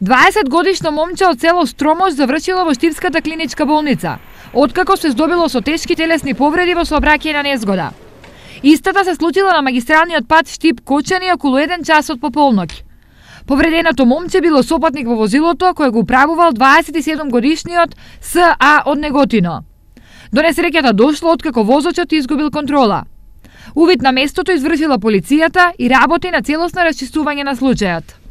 20-годишно момче од село Стромош завршило во Штипската клиничка болница, откако се здобило со тешки телесни повреди во сообраќајна незгода. Истата се случила на магистралниот пат Штип-Кочани околу 1 час од пополноќ. Повреденото момче било сопатник во возилото кој го управувал 27-годишниот С.А. од Неготино. До несреќата дошло откако возачот изгубил контрола. Увид на местото извршила полицијата и работи на целосно расчистување на случајот.